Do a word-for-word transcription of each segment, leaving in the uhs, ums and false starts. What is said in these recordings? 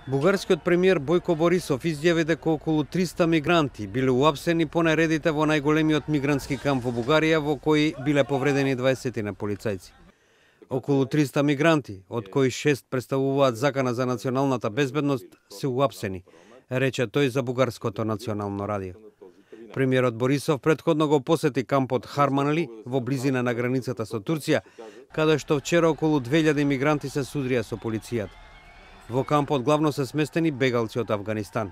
Бугарскиот премиер Бојко Борисов изјави дека околу триста мигранти биле уапсени по наредите во најголемиот мигрантски камп во Бугарија, во кој биле повредени дваесет на полицајци. Околу триста мигранти, од кои шест представуваат закана за националната безбедност, се уапсени, рече тој за Бугарското национално радио. Премиерот Борисов претходно го посети кампот Харманли во близина на границата со Турција, каде што вчера околу две илјади мигранти се судрија со полицијата. Во кампот главно се сместени бегалци од Авганистан.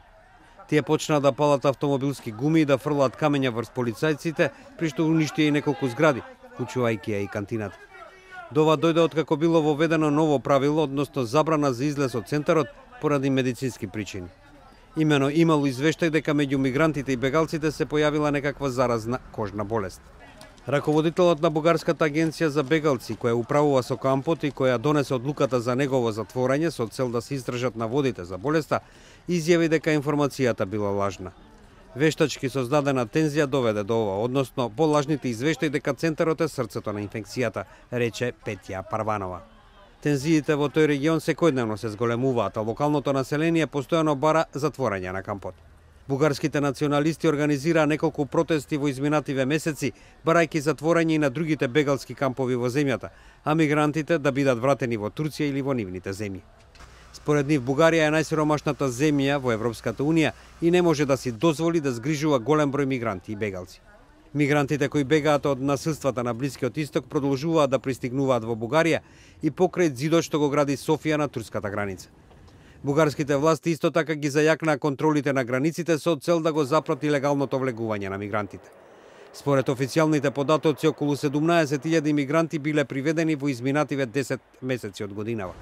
Тие почнаа да палат автомобилски гуми и да фрлаат камења врз полицајците, при што уништија и неколку згради, вклучувајќи ја и кантината. До ова дојде откако било воведено ново правило, односно забрана за излез од центарот поради медицински причини. Имено имало извештај дека меѓу мигрантите и бегалците се појавила некаква заразна кожна болест. Раководителот на Бугарската агенција за бегалци, која управува со кампот и која донесе одлуката за негово затворање со цел да се истражат наводите за болеста, изјави дека информацијата била лажна. Вештачки создадена тензија доведе до ова, односно по лажните извештаи дека центарот е срцето на инфекцијата, рече Петја Парванова. Тензиите во тој регион секојдневно се зголемуваат, а локалното население постојано бара затворање на кампот. Бугарските националисти организираа неколку протести во изминативе месеци, барајќи затворање и на другите бегалски кампови во земјата, а мигрантите да бидат вратени во Турција или во нивните земји. Според нив, Бугарија е најсиромашната земја во Европската унија и не може да си дозволи да згрижува голем број мигранти и бегалци. Мигрантите кои бегаат од насилствата на Блискиот Исток продолжуваат да пристигнуваат во Бугарија и покрај зидот што го гради Софија на турската граница. Бугарските власти исто така ги зајакнаа контролите на границите со цел да го запрати легалното влегување на мигрантите. Според официјалните податоци, околу седумнаесет илјади мигранти биле приведени во изминативе десет месеци од годинава.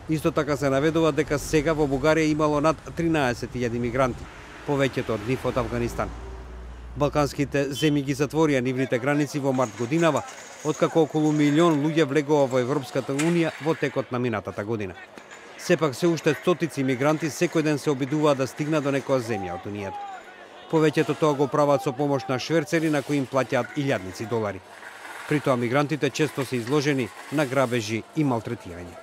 Исто така се наведува дека сега во Бугарија имало над тринаесет илјади мигранти, повеќето од нив од Авганистан. Балканските земји ги затворија нивните граници во март годинава, откако околу милион луѓе влегува во Европската унија во текот на минатата година. Сепак се уште стотици мигранти секој ден се обидуваат да стигнат до некоја земја од Унијата. Повеќето тоа го прават со помош на шверцери на кои им плаќаат илјадници долари. При тоа мигрантите често се изложени на грабежи и малтретирање.